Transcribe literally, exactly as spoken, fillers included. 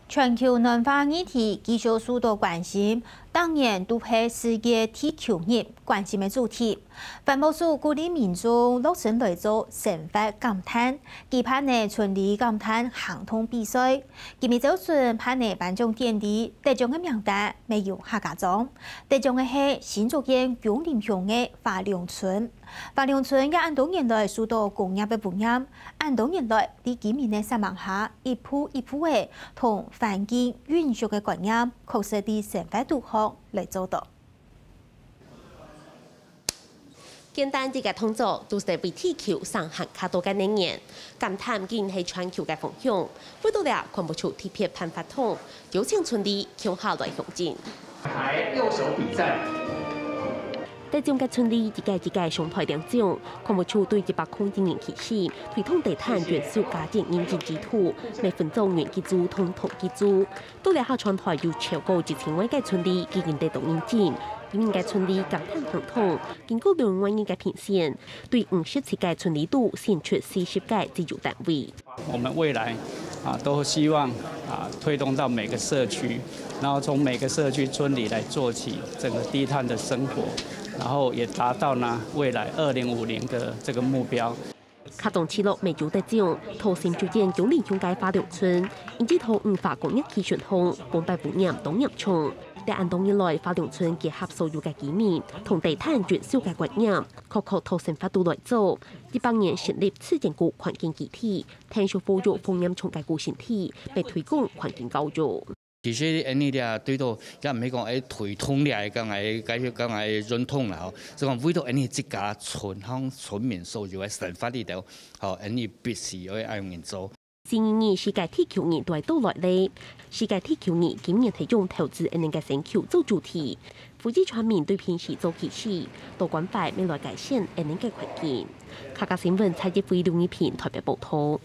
全球暖化議題繼續受到關心，逐年都係世界地球日關心个主題。環保署鼓勵民眾落實來做生活減碳，舉辦个春麗減碳行動比賽。今晡日朝晨辦个頒獎典禮，得獎个名單乜有客家庄。得獎个係新竹縣芎林鄉个花龍村。花龍村也恁多年來受到工業个污染，恁多年來，在居民个煞猛下，一步一步个同環境永續个觀念，確實在生活肚項來做到。簡單一個動作，都係為地球省還較多个能源。減碳已經係全球个方向，為到了，環保署特別辦活動，邀請村里共下來向前。排右手比讚。得獎个村里一個一個上台領獎，環保署對一百空一年起始，推動低碳元素家電認證制度，乜分做元機組同銅機組。到這下全台有超過一千萬个村里已經得到認證，今年个村里減碳行動，經過兩萬人个評選，對五十七个村里肚選出四十个績優單位。我們未來啊，都希望啊，推動到每個社區，然後從每個社區村里來做起，整個低碳的生活，然後也達到呢未來二零五零的這個目標。客庄聚落乜有得獎，桃心就建九里鄉个花龍村，因為桃園化工業區巡通，公辦污染當嚴重。在恁多年來，花龍村結合所有个居民，同低碳元素个觀念，確確桃生活肚來做。一百年成立自然谷環境基地， 聽說保育風險重个古身體，被推廣環境教育。其實恁呢咧，對到也毋係講愛推動咧，講愛解決講愛運動啦吼，係講為到恁呢自家村鄉村民所有个生活裡頭，吼，恁呢必須愛恁樣做。今年世界地球日都來到來咧，世界地球日今年係用投資恁呢个星球做主題，呼籲全民對平時做起始，多關懷乜來改善恁呢个環境。客家新聞蔡一輝、劉一平台北報導。